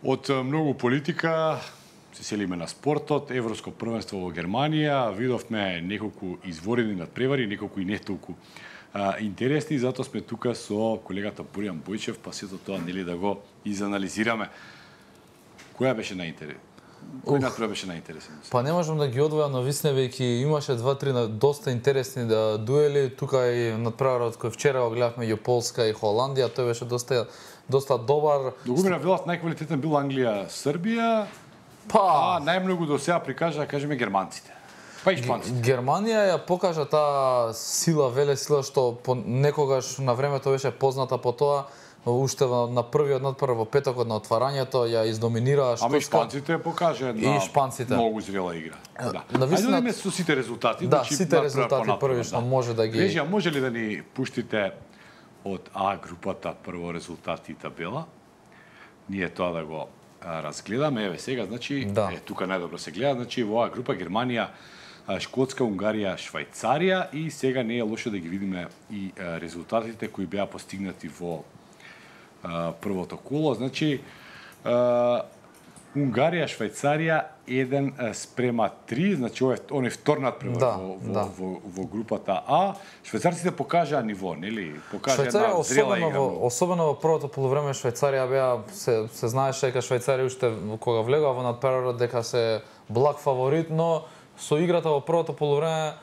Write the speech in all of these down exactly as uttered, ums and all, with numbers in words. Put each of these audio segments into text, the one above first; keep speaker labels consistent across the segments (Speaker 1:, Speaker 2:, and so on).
Speaker 1: Од многу политика се селиме на спортот, Европско првенство во Германија, видовме неколку изворени надпревари, неколку и не толку а, интересни, затоа сме тука со колегата Боријан Бојчев, па сето тоа нели да го изанализираме. Која беше најинтересна? Кој надпревар беше најинтересен?
Speaker 2: Па не можам да ги одвојам, но висне веќе имаше два-три доста интересни да дуели. Тука и надпреварот кој вчера го гледавме ја Полска и Холандија, тој беше доста доста добар.
Speaker 1: До година велат најквалитетен бил Англија, Србија,
Speaker 2: па
Speaker 1: а најмногу до сега прикажа, кажеме, германците. Па и шпанците.
Speaker 2: Германија ја покажа таа сила, веле сила што по некогаш на времето беше позната по тоа. Уште на првиот надпревар во петокот на отварањето ја издоминираа Шкотска.
Speaker 1: Ама и шпанците покажа една
Speaker 2: и шпанците
Speaker 1: многу зрела игра. Да.
Speaker 2: Навистина...
Speaker 1: Ајде да со сите резултати.
Speaker 2: Да, значи, сите резултати првично да. Може да ги...
Speaker 1: Режија, може ли да ни пуштите од А групата прво резултати и табела? Ние тоа да го а, разгледаме. Еве сега, значи,
Speaker 2: да.
Speaker 1: Е, тука најдобро се гледа, значи во А група Германија, Шкотска, Унгарија, Швајцарија и сега не е лошо да ги видиме и а, резултатите кои беа постигнати во а, првото коло. Значи, а, Унгарија, Швајцарија еден спрема три, значи ова е он е втор надпревар
Speaker 2: да,
Speaker 1: во, во,
Speaker 2: да.
Speaker 1: во, во групата А. Швајцарците покажаа ниво, нели? Покажаа
Speaker 2: една
Speaker 1: зрела игра.
Speaker 2: Во, особено во првото полувреме Швајцарија беа се се знаеше дека Швајцарија уште кога влегува во надпреварот дека се благ фаворит, но со играта во првото полувреме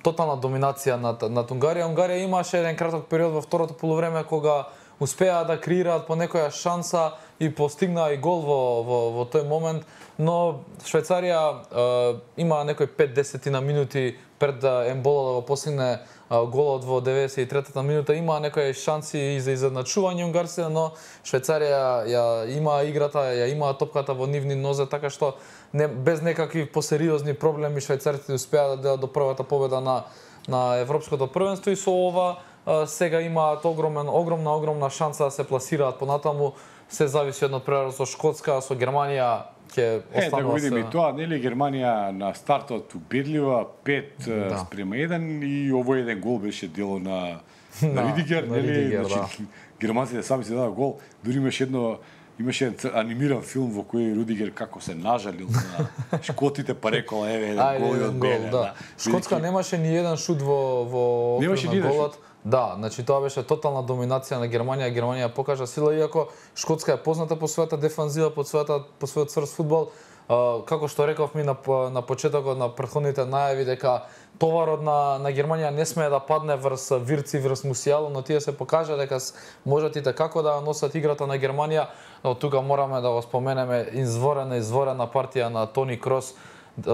Speaker 2: тотална доминација над над Унгарија. Унгарија имаше еден краток период во второто полувреме кога успеа да креираат по некоја шанса и постигнаа и гол во, во, во тој момент, но Швајцарија е, има некои пет-десет на минути пред да Ембола да го постигне голот во деветдесет и третата минута, има некои шанси и за изедначување унгарците, но Швајцарија ја има играта, ја има топката во нивни нозе, така што не, без некакви посериозни проблеми швајцарците успеа да до првата победа на на европското првенство и со ова сега имаат огромен огромна огромна шанса да се пласираат понатаму. Се зависи од надпреварот со Шкотска, со Германија ќе останува.
Speaker 1: Е, да го видиме и тоа, нели Германија на стартот убедлива пет да. спрема еден и овој еден гол беше дело на на Ридигер,
Speaker 2: на
Speaker 1: нели,
Speaker 2: Ридигер,
Speaker 1: значи
Speaker 2: да.
Speaker 1: германците сами се дадоа гол, дури имаше едно имаше анимиран филм во кој Рудигер како се нажалил на шкотите, па рекол еве еден гол и од мене. Да.
Speaker 2: Шкотска немаше ни еден шут во во
Speaker 1: немаше ни
Speaker 2: голот. Да, значи тоа беше тотална доминација на Германија. Германија покажа сила, иако Шкотска е позната по својата дефанзива, по својата по својот црст фудбал. Uh, како што рековме на на почетокот на претходните најави дека товарот на на Германија не смее да падне врз Вирци, врз Мусијало, но тие се покажа дека можат и како да носат играта на Германија. Но тука мораме да го споменеме изворена изворена партија на Тони Крос.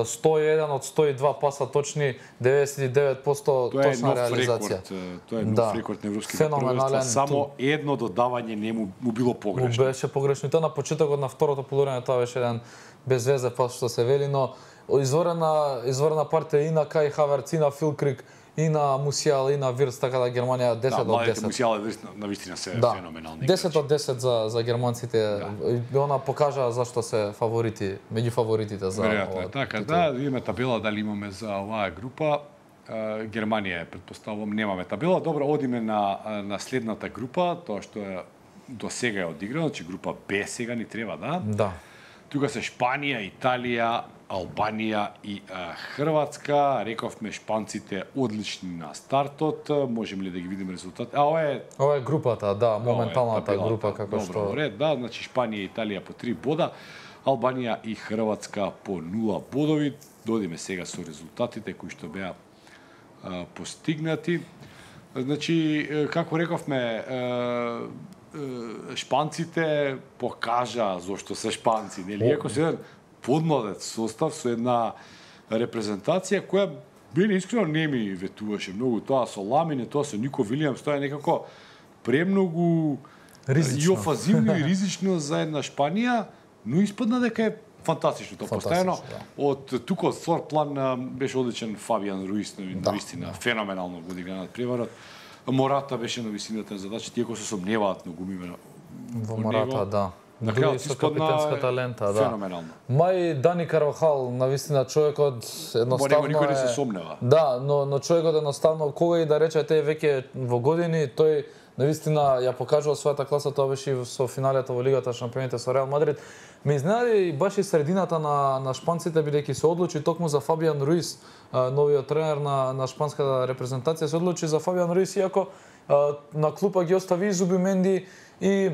Speaker 2: сто и еден од сто и два паса точни, деветдесет и девет проценти точна реализација.
Speaker 1: Тоа е нов да. рекорд на европските
Speaker 2: првенства.
Speaker 1: Само едно додавање не му, му било погрешно.
Speaker 2: Му беше погрешно. Тоа на почетокот на второто полувреме тоа беше еден безвезе пас што се вели, но изворена изворена партија и на Кај Хаверц, и на Фил Крик, и на Мусијал, и на Вирц, така да Германија десет од десет.
Speaker 1: Да, Мусијал е навистина се
Speaker 2: да.
Speaker 1: феноменални.
Speaker 2: десет од десет за за германците. Да. Она покажа зашто се фаворити, меѓу фаворитите за
Speaker 1: веројатно е така. Да, видиме табела дали имаме за оваа група. Германија е, претпоставувам, немаме табела. Добро, одиме на на следната група, тоа што е до сега е одиграно, че група Б сега ни треба, да?
Speaker 2: Да.
Speaker 1: Тука се Шпанија, Италија, Албанија и а, Хрватска. Рековме шпанците одлични на стартот. Можеме ли да ги видиме резултати? А ова е
Speaker 2: ова е групата, да, моменталната
Speaker 1: е
Speaker 2: група како
Speaker 1: Добро,
Speaker 2: што
Speaker 1: ред, да, значи Шпанија и Италија по три бода, Албанија и Хрватска по нула бодови. Додиме сега со резултатите кои што беа а, постигнати. Значи, како рековме, а, шпанците покажа зошто се шпанци, нели? Иако се еден подмладец состав со една репрезентација која били искрено не ми ветуваше многу, тоа со Ламине, тоа со Нико Вилијамс, тоа е некако премногу
Speaker 2: ризично.
Speaker 1: И офазивно и ризично за една Шпанија, но испадна дека е фантастично тоа. Постојано да. Од тука од створ план беше одличен Фабијан Руис, на вистина, да. Феноменално го одигра надпреварот. Мората беше на висината на задача, тие кои се сомневаат многу име
Speaker 2: во Мората, да.
Speaker 1: На
Speaker 2: крајот со капитенската лента, да.
Speaker 1: Феноменално.
Speaker 2: Мај Дани Карвахал, навистина човекот едноставно
Speaker 1: никој не се сомнева.
Speaker 2: Да, но но човекот едноставно кога и да рече те веќе во години, тој навистина ја покажува својата класа, тоа беше и со финалето во Лигата шампионите со Реал Мадрид. Ме изненади баш и средината на на шпанците, бидејќи се одлучи токму за Фабиан Руис, новиот тренер на на шпанската репрезентација, се одлучи за Фабиан Руис, иако на клупа ги остави и Зубименди и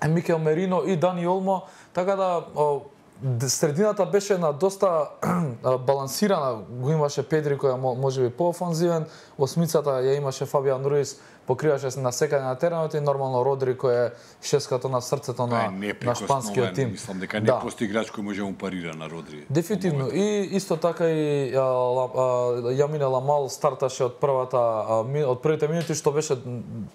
Speaker 2: Микел Мерино и Дани Олмо, така да средината беше на доста балансирана, го имаше Педри која можеби поофанзивен, осмицата ја имаше Фабиан Руис, покриваше се на секаде на теренот и нормално Родри кој е шескато на срцето на на шпанскиот тим.
Speaker 1: Мислам дека не
Speaker 2: да.
Speaker 1: постои играч кој може да му парира на Родри.
Speaker 2: Дефинитивно и исто така и Јамине Ламал старташе од првата од првите минути, што беше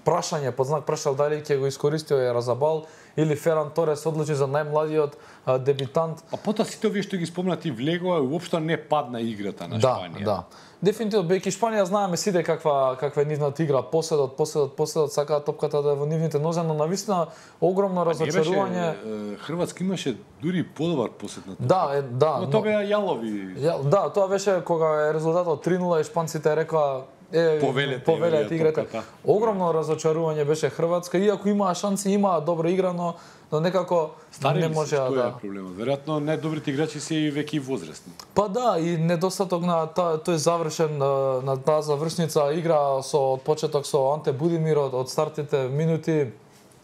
Speaker 2: прашање под знак прашал дали ќе го искористио е Разабал или Феран Торес одлучи за најмладиот дебитант.
Speaker 1: А потоа сите овие што ги спомнати влегоа уопшто не падна играта на Шпанија.
Speaker 2: Да, да. Дефинитивно, бејќи Шпанија знаеме сите каква каква е нивната игра, последот, последот, последот, сакаат топката да е во нивните нозе, но навистина огромно разочарување.
Speaker 1: Хрватска имаше дури подобар посет на топката.
Speaker 2: Да, е, да.
Speaker 1: Но тоа беа јалови.
Speaker 2: Ја, да, тоа беше кога е резултатот три нула и шпанците рекоа е
Speaker 1: повелете,
Speaker 2: повелете играта. Огромно разочарување беше Хрватска, иако имаа шанси, имаа добра игра, но но некако
Speaker 1: Стари
Speaker 2: не може да.
Speaker 1: Тоа е проблемот. Веројатно најдобрите играчи се и веќе и возрастни.
Speaker 2: Па да, и недостаток на та, тој завршен на таа завршница игра со од почеток со Анте Будимир од, од стартите минути,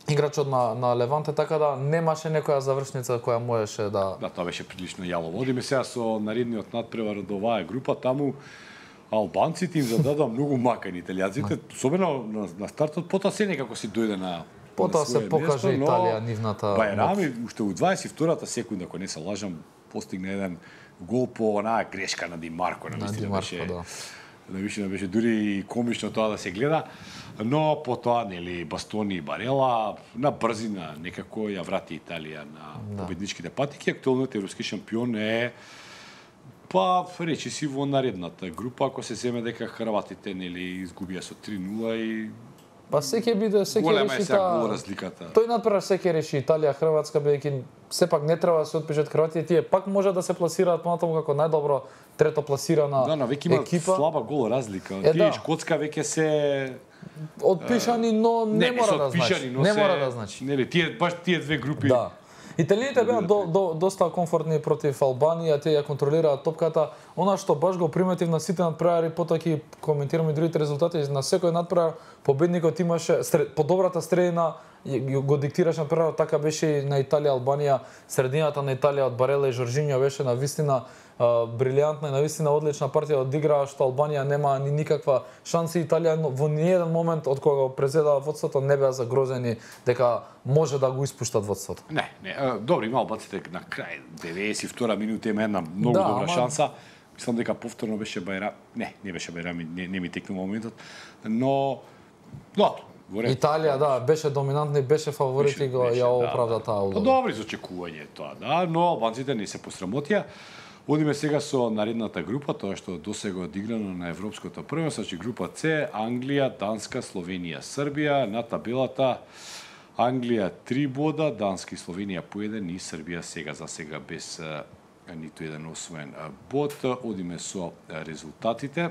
Speaker 2: играчот на на Леванте, така да немаше некоја завршница која можеше да.
Speaker 1: Да, тоа беше прилично јалово. Одиме сега со наредниот надпревар од оваа група, таму албанците им зададоа многу мака на италијаците, особено на, на стартот, потоа се некако си дојде на
Speaker 2: потоа се покаже место, Италија нивната.
Speaker 1: Бајрами уште у дваесет и втората секунда, ако не се лажам, постигна еден гол по онаа грешка на Ди Марко, на вистина беше. Да. На вистина беше дури и комично тоа да се гледа, но потоа нели Бастони и Барела на брзина некако ја врати Италија на да. победничките патики. Актуелниот европски шампион е па речи си во наредната група, ако се земе дека хрватите нели изгубија со три нула и
Speaker 2: па секој биде секој реши таа
Speaker 1: разликата.
Speaker 2: Тој надпревар секој реши Италија, Хрватска, бидејќи сепак не треба да се отпишат Хрватија, тие пак може да се пласираат понатаму како најдобро трето пласирана
Speaker 1: да, но веќе има
Speaker 2: екипа.
Speaker 1: Слаба гол разлика.
Speaker 2: Е,
Speaker 1: Тие
Speaker 2: да.
Speaker 1: Шкотска веќе се
Speaker 2: отпишани, но не, не мора да значи. Не
Speaker 1: се...
Speaker 2: мора да значи.
Speaker 1: Нели тие баш тие две групи.
Speaker 2: Да. Италијаните беа до, до, доста комфортни против Албанија, тие ја контролираат топката. Она што баш го приметив на сите надпревари, потоа ќе коментираме и другите резултати, на секој надпревар победникот имаше сред, подобрата средина го диктираше надпреварот, така беше и на Италија Албанија, средината на Италија од Барела и Жоржинјо беше на вистина брилјантна и навистина одлична партија одиграа, што Албанија нема ни никаква шанси. Италија во ниеден момент од кога го презедаа водството не беа загрозени дека може да го испуштат водството.
Speaker 1: Не, не, добро, има албанците на крај деветдесет и втора минута има една многу да, добра ама... шанса. Мислам дека повторно беше Бајрам, не, не беше Бајрам, не, не ми текнува моментот, но добро.
Speaker 2: Италија, да, беше доминантна и беше фаворит и го ја оправда
Speaker 1: да,
Speaker 2: таа улога.
Speaker 1: Да. Добри за очекување тоа, да, но албанците не се посрамотија. Одиме сега со наредната група, тоа што досега одиграно на Европското првенство, значи група С, Англија, Данска, Словенија, Србија, на табелата Англија три бода, Данска и Словенија по еден и Србија сега за сега без а, ниту еден освоен бод. Одиме со резултатите.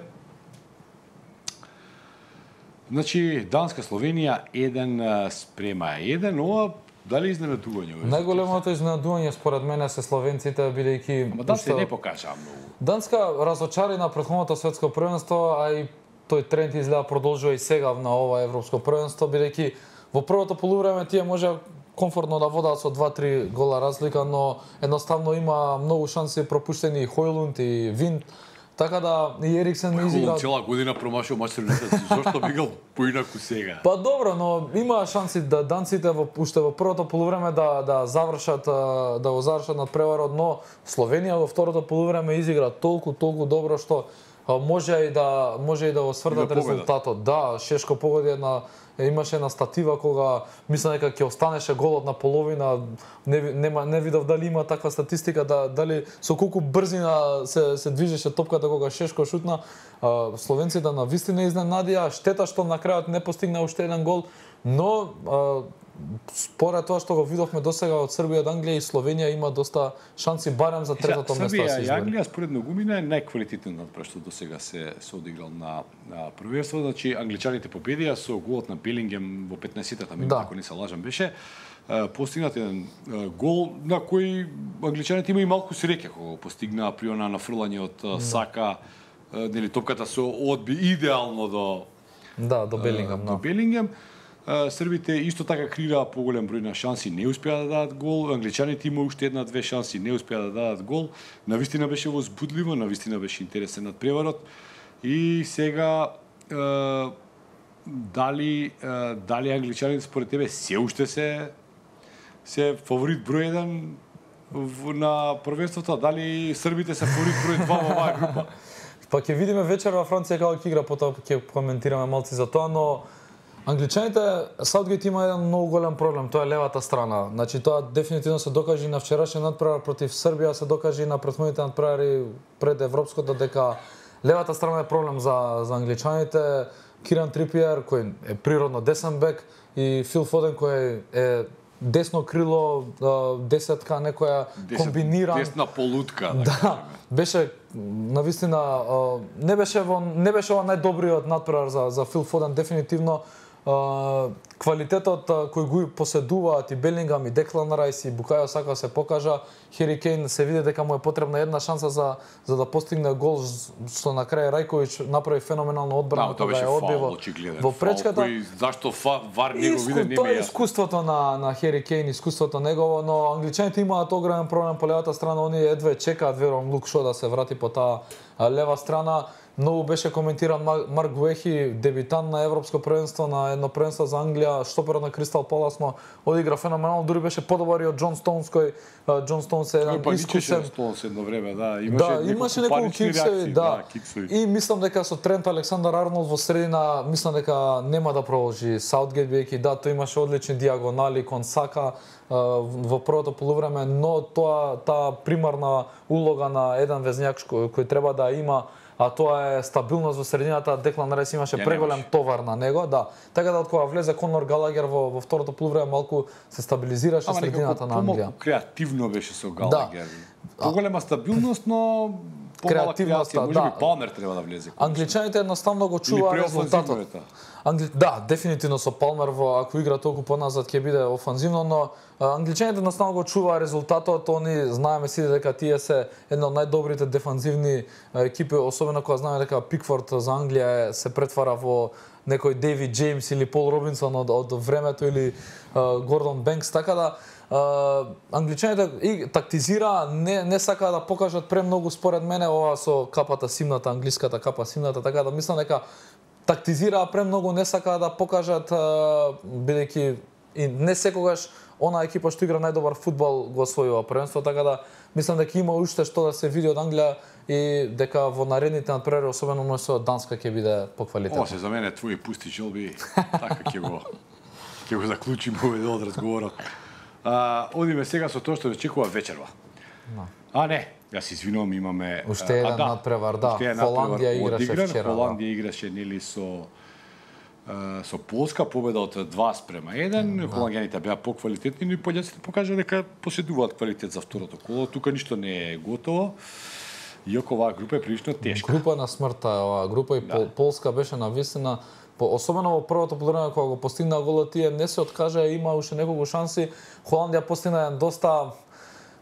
Speaker 1: Значи, Данска, Словенија еден спрема еден, ова дали изненадување?
Speaker 2: Најголемото изненадување според мене се словенците, бидејќи
Speaker 1: Ама Данска не покажа многу.
Speaker 2: Данска разочари на претходното светско првенство, а и тој тренд изгледа продолжува и сега на ова европско првенство, бидејќи во првото полувреме тие може комфортно да водат со два-три гола разлика, но едноставно има многу шанси пропуштени и Хојлунд и Винт. Така да и Ериксен ми изигра.
Speaker 1: Цела година промашил мачерната, зошто бигал поинаку сега?
Speaker 2: Па добро, но има шанси да данците во уште во првото полувреме да да завршат да го завршат надпреварот, но Словенија во второто полувреме изигра толку толку добро што може и да може и да го сврдат да резултатот. Да, Шешко погоди една имаше една статива кога мислам дека ќе останеше голот на половина, не нема не видов дали има таква статистика да дали со колку брзина се се движеше топката кога Шешко шутна. Словенците на вистина изненадија, штета што на крајот не постигна уште еден гол, но а, според тоа што го видовме досега од Србија, од Англија и Словенија има доста шанси барем за третото место да се
Speaker 1: избори. Србија и Англија според многумина е најквалитетен надпревар што досега се се одиграл на, на првенство. Значи англичаните победија со голот на Белингем во петнаесеттата минута,
Speaker 2: да.
Speaker 1: ако не се лажам беше. Постигнат еден гол на кој англичаните има и малку среќа кога го постигнаа при она нафрлање од Сака, нели топката се одби идеално до
Speaker 2: да, до Белингем,
Speaker 1: до Белингем. Србите исто така креираа поголем број на шанси, не успеа да дадат гол. Англичаните има уште една-две шанси, не успеа да дадат гол. Навистина беше возбудливо, навистина беше интересен надпреварот. И сега е, дали е, дали англичаните според тебе се уште се се фаворит број еден на првенството, дали србите се фаворит број два во оваа група?
Speaker 2: Па ќе видиме вечер во Франција како ќе игра, потоа ќе коментираме малци за тоа, но англичаните, Саутгейт има еден многу голем проблем, тоа е левата страна. Значи тоа дефинитивно се докажи на вчерашниот надпревар против Србија, се докажи на претходните надпревари пред европското дека левата страна е проблем за за англичаните. Киран Трипиер кој е природно десен бек и Фил Фоден кој е десно крило, десетка, некоја комбиниран
Speaker 1: десна полутка,
Speaker 2: да. Да, беше навистина не беше во не беше ова најдобриот надпревар за за Фил Фоден дефинитивно. Uh, квалитетот uh, кој го поседуваат и Белингам и Деклан Рајс и Букајо Сака се покажа. Хери Кейн се види дека му е потребна една шанса за за да постигне гол, што на крај Рајковиќ направи феноменална одбрана
Speaker 1: кога ја одби во,
Speaker 2: во пречката.
Speaker 1: Кој, зашто фа, вар не го виде, не
Speaker 2: тоа е искуството на на Хери Кейн, искуството негово, но англичаните имаат огромен проблем по левата страна, они едве чекаат верувам Лук Шо да се врати по таа лева страна. Многу беше коментиран Марк Гуехи, дебитант на европско првенство, на едно првенство за Англија, штоперот на Кристал Палас, но одигра феноменално, дури беше подобар и од Џон Стоунс, кој Џон Стоунс е еден искусен.
Speaker 1: Стоунс едно време, да, имаше
Speaker 2: да, имаше неколку киксови, да. да и мислам дека со Трент Александар Арнолд во средина, мислам дека нема да продолжи Саутгейт, бидејќи да, тој имаше одлични диагонали кон Сака во првото полувреме, но тоа таа примарна улога на еден везњак кој, кој треба да има, а тоа е стабилност во средината. Деклан Рајс имаше ja, преголем товар на него, да. Така да од кога влезе Конор Галагер во, во второто полувреме малку се стабилизираше Ама средината на Англија.
Speaker 1: Ама креативно беше со Галагер. Да. Поголема стабилност, но креативноста, може да. би Палмер треба да влезе.
Speaker 2: Англичаните едноставно го чува резултатот. Англи... Да, дефинитивно со Палмер во ако игра толку поназад ќе биде офанзивно, но англичаните едноставно го чува резултатот. Они знаеме сите дека тие се една од најдобрите дефанзивни екипи, особено кога знаеме дека Пикфорд за Англија се претвара во некој Дейвид Джеймс или Пол Робинсон од, од времето или uh, Гордон Бенкс, така да Uh, англичаните и тактизира, не не сака да покажат премногу според мене ова со капата симната, англиската капа симната, така да мислам дека тактизира премногу, не сака да покажат uh, бидејќи и не секогаш она екипа што игра најдобар фудбал го освојува првенство, така да мислам дека има уште што да се види од Англија и дека во наредните надпревари, особено со Данска, ќе биде поквалитетно.
Speaker 1: Ова се за мене твои пусти желби, така ќе го ќе го заклучиме овој дел од разговорот. А, одиме сега со тоа што очекува вечерва. No. А не, ја се извинувам, имаме
Speaker 2: уште еден да, надпревар, да. Холандија играше вчера.
Speaker 1: Холандија играше нели со со Полска, победа од два спрема еден. Да. Холандјаните беа поквалитетни, но и поljacите покажа дека поседуваат квалитет за второто коло. Тука ништо не е готово. Иако оваа група е прилично тешка.
Speaker 2: Група на смртта е оваа група и да. Полска беше навистина. Особено во првото полувреме кога го постигна голот, тие не се откажа, има уште неколку шанси. Холандија постигна еден доста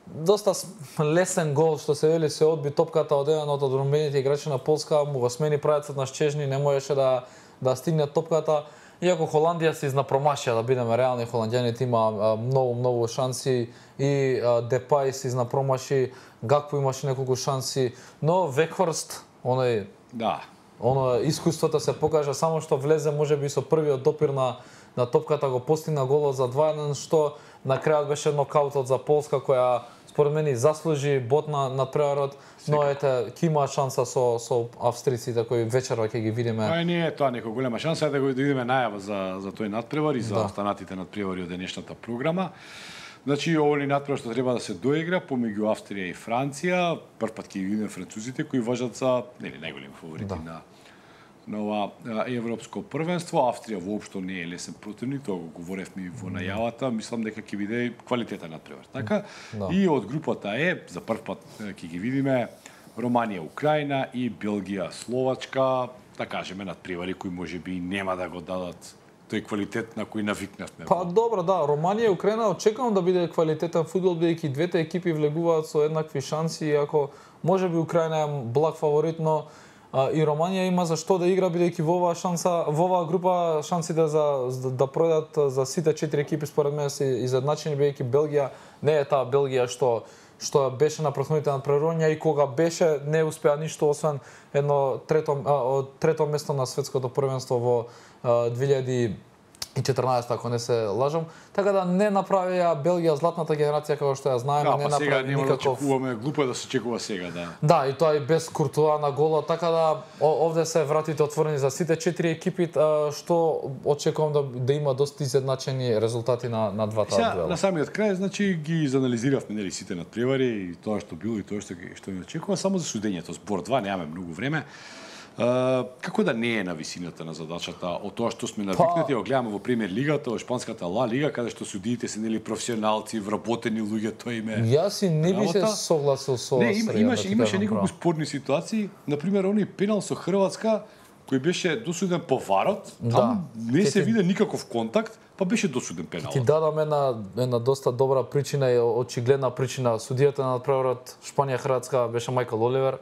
Speaker 2: доста лесен гол, што се вели, се одби топката од еден од одбранбените играчи на Полска, му го смени правецот на Щежни, не можеше да да стигне топката. Иако Холандија се изнапромашија, да бидеме реални, холандјаните има многу многу шанси и Депај се изнапромаши, Гакпо имаше неколку шанси, но Векхорст, оној
Speaker 1: да
Speaker 2: Оно искуството се покажа, само што влезе можеби со првиот допир на на топката го постигна голот за два еден, што на крајот беше нокаутот за Полска која според мене заслужи бот на на преварот, но ете ќе има шанса со со австриците кои вечерва ќе ги видиме.
Speaker 1: Ај не е тоа некоја голема шанса, е да го видиме најава за за тој надпревар и за да. останатите надпревари од денешната програма. Значи, овој надпревар што треба да се доигра помеѓу Австрија и Франција, прв пат ќе видиме французите кои важат за нели најголеми фаворити да. на на ова европско првенство. Австрија воопшто не е лесен противник, тоа го говоревме во најавата, мислам дека ќе биде квалитетен надпревар. Така?
Speaker 2: Да.
Speaker 1: И од групата Е, за прв пат ќе ги видиме Романија, Украина и Белгија, Словачка, да кажеме надпревари кои можеби нема да го дадат тој квалитет на кој навикнавме.
Speaker 2: Па добро, да, Романија и Украина очекувам да биде квалитетен фудбал, бидејќи двете екипи влегуваат со еднакви шанси, иако можеби Украина е благ фаворит, но а, и Романија има за што да игра, бидејќи во оваа шанса, во оваа група шансите за, за да пројдат за сите четири екипи според мене се изедначени, бидејќи Белгија не е таа Белгија што што беше на претходните надпреварувања и кога беше не успеа ништо освен едно трето а, трето место на светското првенство во две илјади и четрнаесетта, ако не се лажам. Така да не направија Белгија златната генерација како што ја знаеме,
Speaker 1: да,
Speaker 2: не
Speaker 1: па сега
Speaker 2: направи
Speaker 1: нема да
Speaker 2: никаков.
Speaker 1: очекуваме, глупо е да се очекува сега, да.
Speaker 2: Да, и тоа и без Куртуа на голот, така да овде се вратите отворени за сите четири екипи, што очекувам да да има доста изедначени резултати на на двата
Speaker 1: Сега,
Speaker 2: дуела.
Speaker 1: на самиот крај, значи ги изанализиравме нели сите надпревари и тоа што било и тоа што што ни очекува, само за судењето збор два немаме многу време. Uh, како да не е на висината на задачата од тоа што сме навикнати, па... гледаме во премиер лигата, во шпанската Ла Лига, каде што судиите се нели професионалци, вработени луѓе, тоа име.
Speaker 2: Јас и не би се согласил со
Speaker 1: Не, има, имаше
Speaker 2: да
Speaker 1: имаше неколку спорни ситуации, на пример оној пенал со Хрватска кој беше досуден по варот, там да. не се виде никаков контакт, па беше досуден пенал.
Speaker 2: Ти дадам една една доста добра причина и очигледна причина. Судијата на надпреварот Шпанија-Хрватска беше Мајкл Оливер.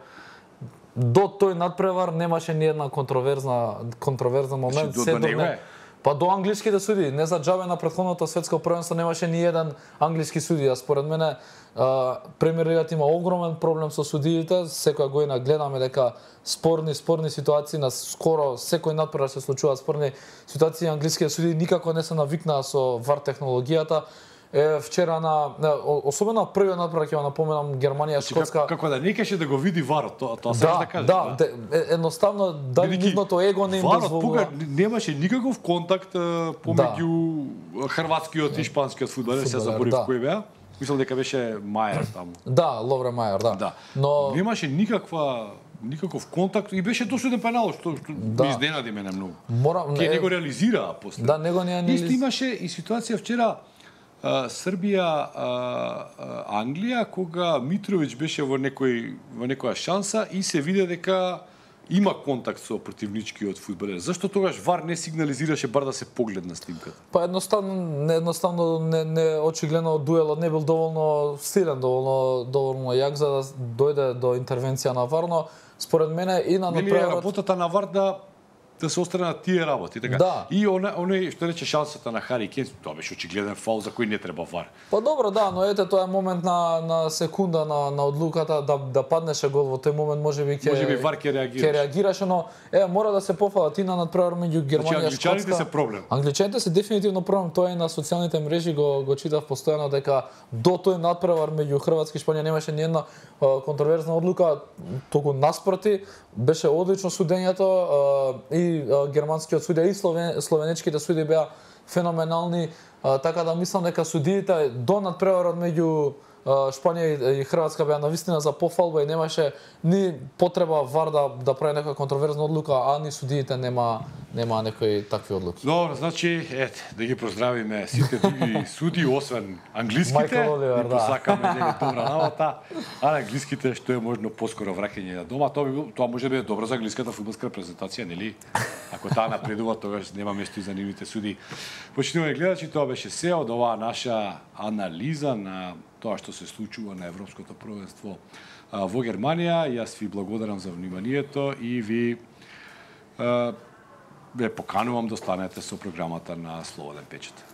Speaker 2: До тој надпревар немаше ни една контроверзна контроверзен момент,
Speaker 1: до,
Speaker 2: се
Speaker 1: до
Speaker 2: до не. Па до англиските судии, не за џабе на претходното светско првенство немаше ни еден англиски судија. Според мене Премиер лигата има огромен проблем со судиите, секоја година гледаме дека спорни спорни ситуации на скоро секој надпревар се случуваат спорни ситуации, англиските судии никако не се навикнаа со вар технологијата. Е, вчера на, особено првиот надпревар ќе го напоменам Германија Шкотска.
Speaker 1: Како, како да не кеше да го види варот, тоа тоа
Speaker 2: да,
Speaker 1: да кажеш.
Speaker 2: Да, да, едноставно дали нивното его не им дозволува.
Speaker 1: Варот пога немаше никаков контакт помеѓу да. хрватскиот и шпанскиот фудбалер, се заборив да. кој беа. Мислам дека беше Мајер таму.
Speaker 2: Да, Ловре Мајер, да.
Speaker 1: да.
Speaker 2: Но
Speaker 1: немаше никаква никаков контакт и беше досуден пенал, што, што да. ми изненади мене многу.
Speaker 2: Морам
Speaker 1: Ке не го реализираа после.
Speaker 2: Да, него не
Speaker 1: анализ... Исто имаше и ситуација вчера Uh, Србија, uh, uh, Англија, кога Митровиќ беше во некој во некоја шанса и се виде дека има контакт со противничкиот фудбалер. Зашто тогаш вар не сигнализираше бар да се погледна снимката?
Speaker 2: Па едноставно не едноставно не, не очигледно дуелот не бил доволно силен, доволно доволно јак за да дојде до интервенција на вар, но според мене и на
Speaker 1: направот работата на вар да да се остранат тие работи, така.
Speaker 2: Да.
Speaker 1: И оне оне што рече шансата на Хари Кейн, тоа беше очигледен фаул за кој не треба вар.
Speaker 2: Па добро, да, но ете тоа е момент на на секунда на на одлуката да да паднеше гол во тој момент, можеби ќе
Speaker 1: можеби вар ќе реагираше.
Speaker 2: Ќе реагираше, но е мора да се пофалат и на надпревар меѓу Германија и Шкотска.
Speaker 1: Англичаните се проблем.
Speaker 2: Англичаните се дефинитивно проблем, тоа е на социјалните мрежи го го читав постојано дека до тој надпревар меѓу Хрватска и Шпанија немаше ни една контроверзна одлука, туку наспроти беше одлично судењето и германскиот судија и словен, словенечките судии беа феноменални, а, така да мислам дека судиите до надпреварот меѓу Шпанија и Хрватска беа навистина за пофалба и немаше ни потреба вар да да прави некоја контроверзна одлука, а ни судиите нема нема некои такви одлуки.
Speaker 1: Добро, значи, ете, да ги поздравиме сите други судии освен англиските.
Speaker 2: Оливер,
Speaker 1: и посакаме нели добра работа, а на англиските што е можно поскоро враќање на дома, тоа би било, тоа може да биде добро за англиската фудбалска репрезентација, нели? Ако таа напредува, тогаш нема место и за нивните судии. Почитувани гледачи, тоа беше се од оваа наша анализа на тоа што се случува на Европското првенство во Германија. Јас ви благодарам за вниманието и ви ве поканувам да останете со програмата на Слободен печат.